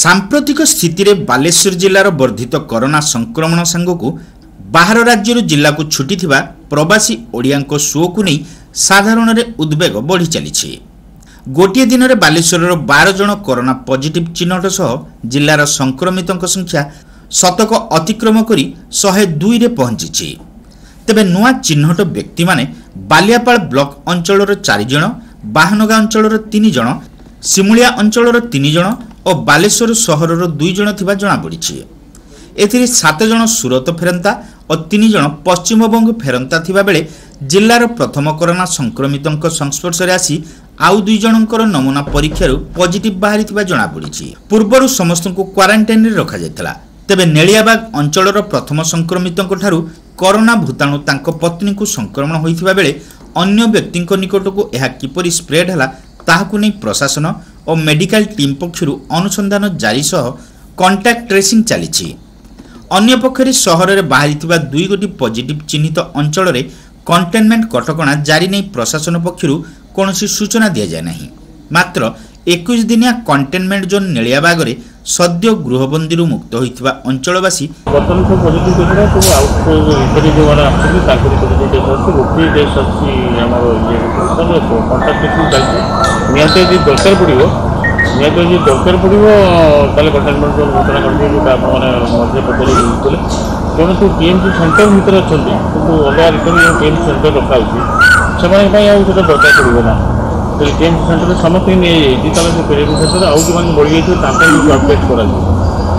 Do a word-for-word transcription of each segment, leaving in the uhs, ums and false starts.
ସାମ୍ପ୍ରତିକ ସ୍ଥିତିରେ ବାଲେଶ୍ୱର ଜିଲ୍ଲାର ବର୍ଦ୍ଧିତ କରୋନା ସଂକ୍ରମଣ ସାଙ୍ଗକୁ ବାହାର ରାଜ୍ୟରୁ ଜିଲ୍ଲାକୁ ଛୁଟିଥିବା ପ୍ରବାସୀ ଓଡ଼ିଆଙ୍କ ସୁଅକୁ ନେଇ ସାଧାରଣରେ ଉଦ୍ବେଗ ବଢ଼ି ଚାଲିଛି। ଗୋଟିଏ ଦିନରେ ବାଲେଶ୍ୱରର ବାର ଜଣ କରୋନା ପଜିଟିଭ୍ ଚିହ୍ନଟ ସହ ଜିଲ୍ଲାର ସଂକ୍ରମିତଙ୍କ ସଂଖ୍ୟା ଶତକ ଅତିକ୍ରମ କରି ଶହେ ଦୁଇରେ ପହଞ୍ଚିଛି। ତେବେ ନୂଆ ଚିହ୍ନଟ ବ୍ୟକ୍ତିମାନେ ବାଲିଆପାଳ ବ୍ଲକ ଅଞ୍ଚଳର ଚାରି ଜଣ, ବାହାନଗା ଅଞ୍ଚଳର ତିନି ଜଣ, ସିମୁଳିଆ ଅଞ୍ଚଳର ତିନି ଜଣ ଓ ବାଲେଶ୍ୱର ସହରର ଦୁଇ ଜଣ ଥିବା ଜଣାପଡ଼ିଛି। ଏଥିରେ ସାତ ଜଣ ସୁରତ ଫେରନ୍ତା ଓ ତିନି ଜଣ ପଶ୍ଚିମବଙ୍ଗ ଫେରନ୍ତା ଥିବାବେଳେ ଜିଲ୍ଲାର ପ୍ରଥମ କରୋନା ସଂକ୍ରମିତଙ୍କ ସଂସ୍ପର୍ଶରେ ଆସି ଆଉ ଦୁଇ ଜଣଙ୍କର ନମୁନା ପରୀକ୍ଷାରୁ ପଜିଟିଭ୍ ବାହାରିଥିବା ଜଣାପଡ଼ିଛି। ପୂର୍ବରୁ ସମସ୍ତଙ୍କୁ କ୍ୱାରାଣ୍ଟାଇନ୍ରେ ରଖାଯାଇଥିଲା। ତେବେ ନେଳିଆବାଗ ଅଞ୍ଚଳର ପ୍ରଥମ ସଂକ୍ରମିତଙ୍କଠାରୁ କରୋନା ଭୂତାଣୁ ତାଙ୍କ ପତ୍ନୀଙ୍କୁ ସଂକ୍ରମଣ ହୋଇଥିବା ବେଳେ ଅନ୍ୟ ବ୍ୟକ୍ତିଙ୍କ ନିକଟକୁ ଏହା କିପରି ସ୍ପ୍ରେଡ୍ ହେଲା ତାହାକୁ ନେଇ ପ୍ରଶାସନ ଓ ମେଡିକାଲ ଟିମ୍ ପକ୍ଷରୁ ଅନୁସନ୍ଧାନ ଜାରି ସହ କଣ୍ଟାକ୍ଟ ଟ୍ରେସିଂ ଚାଲିଛି। ଅନ୍ୟପକ୍ଷରେ ସହରରେ ବାହାରିଥିବା ଦୁଇ ଗୋଟି ପଜିଟିଭ୍ ଚିହ୍ନିତ ଅଞ୍ଚଳରେ କଣ୍ଟେନମେଣ୍ଟ କଟକଣା ଜାରି ନେଇ ପ୍ରଶାସନ ପକ୍ଷରୁ କୌଣସି ସୂଚନା ଦିଆଯାଇ ନାହିଁ। ମାତ୍ର ଏକୋଇଶ ଦିନିଆ କଣ୍ଟେନମେଣ୍ଟ ଜୋନ୍ ନେଳିଆବାଗରେ ସଦ୍ୟ ଗୃହବନ୍ଦୀରୁ ମୁକ୍ତ ହୋଇଥିବା ଅଞ୍ଚଳବାସୀ ବର୍ତ୍ତମାନ ସବୁ ପଜିଟିଭ୍ କେସ୍ଟା ସବୁ ଆଉଟ୍ ଭିତରେ ଯେଉଁମାନେ ଆସୁଛନ୍ତି ତାଙ୍କରି ପଜିଟିଭ୍ କେସ୍ ଅଛି। ଗୋଟିଏ କେସ୍ ଅଛି ଆମର ଇଏ କଣ୍ଟାକ୍ଟ ଟ୍ରେସିଂ ଚାଲିଛି। ନିହାତି ଯଦି ଦରକାର ପଡ଼ିବ ନିହାତି ଯଦି ଦରକାର ପଡ଼ିବ ତାହେଲେ କଣ୍ଟେନମେଣ୍ଟ ଜୋନ୍ ଘୋଷଣା କରିଦିଏ, ଯେଉଁଟା ଆପଣମାନେ ମଝିରେ ପଚାରି ବୁଝୁଥିଲେ। ତେଣୁ ସବୁ ଟି ଏମ୍ ସି ସେଣ୍ଟର ଭିତରେ ଅଛନ୍ତି, କିନ୍ତୁ ଅଲଗା ରିଟର୍ନ ଯେଉଁ ଟି ଏମ୍ ସି ସେଣ୍ଟର ରଖାହେଇଛି ସେମାନଙ୍କ ପାଇଁ ଆଉ ସେଇଟା ଦରକାର ପଡ଼ିବ ନା। ଯଦି ଟି ଏମ୍ ସି ସେଣ୍ଟରରେ ସମସ୍ତଙ୍କୁ ନିଆଯାଇଛି, ତାହେଲେ ସେ ଟି ଏମ୍ ସି ସେଣ୍ଟରରେ ଆଉ ଯେଉଁମାନେ ବଢ଼ିଯାଇଥିବେ ତାଙ୍କ ବି ସ୍ୱାବ୍ ଟେଷ୍ଟ କରାଯିବ।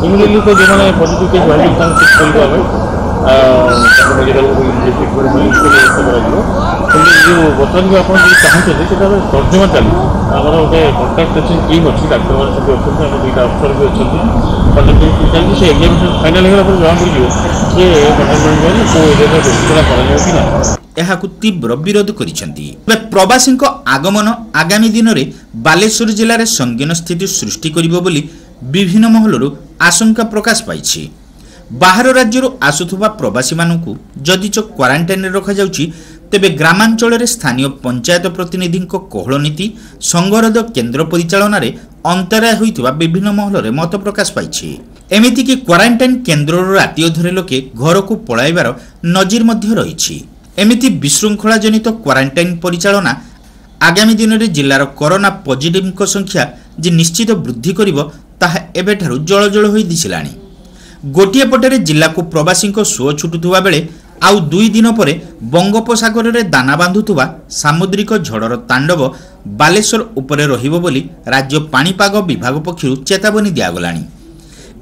ଇମିଡ଼ିଏଟଲି ତ ଯେଉଁମାନେ ପଜିଟିଭ୍ କେସ୍ ବାହାରିବେ ତାଙ୍କୁ ଚେକ୍ କରିବୁ ଆମେ, ତାଙ୍କୁ ମେଡ଼ିକାଲକୁ ସିଫ୍ଟ ବ୍ୟବସ୍ଥା କରାଯିବ। କିନ୍ତୁ ଯେଉଁ ବର୍ତ୍ତମାନ ଯେଉଁ ଆପଣ ଯଦି ଚାହୁଁଛନ୍ତି ସେଇଟା ତର୍ଜମା ଚାଲିଛି। ଆମର ଗୋଟେ କଣ୍ଟାକ୍ଟ ଟ୍ରେସିଂ ଟିମ୍ ଅଛି, ଡାକ୍ତରମାନେ ସେଠି ଅଛନ୍ତି, ଆମର ଦୁଇଟା ଅଫିସର ବି ଅଛନ୍ତି। କଣ୍ଟାକ୍ଟ ଟ୍ରେସିଂ ଚାଲିଛି। ସେ ଏକ୍ଜାମିନେସନ୍ ଫାଇନାଲ୍ ହେଇଗଲା ପରେ ଜଣାପଡ଼ିଯିବ ଯେ କଣ୍ଟେନମେଣ୍ଟ ଜୋନ୍ କେଉଁ ଏରିଆରେ ଘୋଷଣା କରାଯିବ କି ନାହିଁ। ଏହାକୁ ତୀବ୍ର ବିରୋଧ କରିଛନ୍ତି। ତେବେ ପ୍ରବାସୀଙ୍କ ଆଗମନ ଆଗାମୀ ଦିନରେ ବାଲେଶ୍ୱର ଜିଲ୍ଲାରେ ସଙ୍ଗୀନ ସ୍ଥିତି ସୃଷ୍ଟି କରିବ ବୋଲି ବିଭିନ୍ନ ମହଲରୁ ଆଶଙ୍କା ପ୍ରକାଶ ପାଇଛି। ବାହାର ରାଜ୍ୟରୁ ଆସୁଥିବା ପ୍ରବାସୀମାନଙ୍କୁ ଯଦିଚ କ୍ୱାରାଣ୍ଟାଇନ୍ରେ ରଖାଯାଉଛି, ତେବେ ଗ୍ରାମାଞ୍ଚଳରେ ସ୍ଥାନୀୟ ପଞ୍ଚାୟତ ପ୍ରତିନିଧିଙ୍କ କୋହଳ ନୀତି ସଂଗରୋଧ କେନ୍ଦ୍ର ପରିଚାଳନାରେ ଅନ୍ତରାୟ ହୋଇଥିବା ବିଭିନ୍ନ ମହଲରେ ମତ ପ୍ରକାଶ ପାଇଛି। ଏମିତିକି କ୍ୱାରାଣ୍ଟାଇନ୍ କେନ୍ଦ୍ରରୁ ରାତି ଅଧରେ ଲୋକେ ଘରକୁ ପଳାଇବାର ନଜିର ମଧ୍ୟ ରହିଛି। ଏମିତି ବିଶୃଙ୍ଖଳାଜନିତ କ୍ୱାରାଣ୍ଟାଇନ୍ ପରିଚାଳନା ଆଗାମୀ ଦିନରେ ଜିଲ୍ଲାର କରୋନା ପଜିଟିଭଙ୍କ ସଂଖ୍ୟା ଯେ ନିଶ୍ଚିତ ବୃଦ୍ଧି କରିବ ତାହା ଏବେଠାରୁ ଜଳଜଳ ହୋଇ ଦିଶିଲାଣି। ଗୋଟିଏ ପଟରେ ଜିଲ୍ଲାକୁ ପ୍ରବାସୀଙ୍କ ସୁଅ ଛୁଟୁଥିବା ବେଳେ ଆଉ ଦୁଇ ଦିନ ପରେ ବଙ୍ଗୋପସାଗରରେ ଦାନା ବାନ୍ଧୁଥିବା ସାମୁଦ୍ରିକ ଝଡ଼ର ତାଣ୍ଡବ ବାଲେଶ୍ୱର ଉପରେ ରହିବ ବୋଲି ରାଜ୍ୟ ପାଣିପାଗ ବିଭାଗ ପକ୍ଷରୁ ଚେତାବନୀ ଦିଆଗଲାଣି।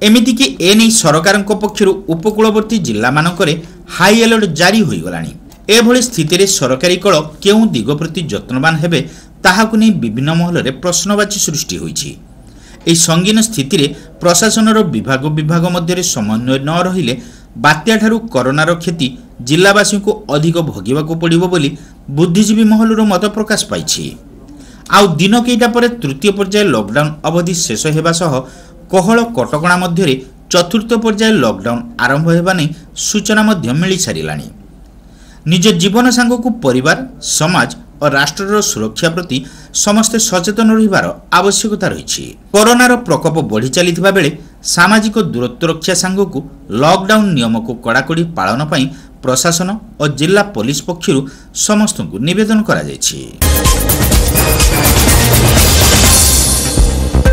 ଏମିତିକି ଏନେଇ ସରକାରଙ୍କ ପକ୍ଷରୁ ଉପକୂଳବର୍ତ୍ତୀ ଜିଲ୍ଲାମାନଙ୍କରେ ହାଇ ଆଲର୍ଟ ଜାରି ହୋଇଗଲାଣି। ଏଭଳି ସ୍ଥିତିରେ ସରକାରୀ କଳ କେଉଁ ଦିଗ ପ୍ରତି ଯତ୍ନବାନ ହେବେ ତାହାକୁ ନେଇ ବିଭିନ୍ନ ମହଲରେ ପ୍ରଶ୍ନବାଚୀ ସୃଷ୍ଟି ହୋଇଛି। ଏହି ସଙ୍ଗୀନ ସ୍ଥିତିରେ ପ୍ରଶାସନର ବିଭାଗ ବିଭାଗ ମଧ୍ୟରେ ସମନ୍ୱୟ ନ ରହିଲେ ବାତ୍ୟାଠାରୁ କରୋନାର କ୍ଷତି ଜିଲ୍ଲାବାସୀଙ୍କୁ ଅଧିକ ଭୋଗିବାକୁ ପଡ଼ିବ ବୋଲି ବୁଦ୍ଧିଜୀବୀ ମହଲରୁ ମତ ପ୍ରକାଶ ପାଇଛି। ଆଉ ଦିନ କେଇଟା ପରେ ତୃତୀୟ ପର୍ଯ୍ୟାୟ ଲକଡାଉନ୍ ଅବଧି ଶେଷ ହେବା ସହ କୋହଳ କଟକଣା ମଧ୍ୟରେ ଚତୁର୍ଥ ପର୍ଯ୍ୟାୟ ଲକଡାଉନ୍ ଆରମ୍ଭ ହେବା ନେଇ ସୂଚନା ମଧ୍ୟ ମିଳିସାରିଲାଣି। ନିଜ ଜୀବନ ସାଙ୍ଗକୁ ପରିବାର, ସମାଜ ଓ ରାଷ୍ଟ୍ରର ସୁରକ୍ଷା ପ୍ରତି ସମସ୍ତେ ସଚେତନ ରହିବାର ଆବଶ୍ୟକତା ରହିଛି। କରୋନାର ପ୍ରକୋପ ବଢ଼ି ଚାଲିଥିବା ବେଳେ ସାମାଜିକ ଦୂରତ୍ୱ ରକ୍ଷା ସାଙ୍ଗକୁ ଲକଡାଉନ୍ ନିୟମକୁ କଡ଼ାକଡ଼ି ପାଳନ ପାଇଁ ପ୍ରଶାସନ ଓ ଜିଲ୍ଲା ପୋଲିସ ପକ୍ଷରୁ ସମସ୍ତଙ୍କୁ ନିବେଦନ କରାଯାଇଛି।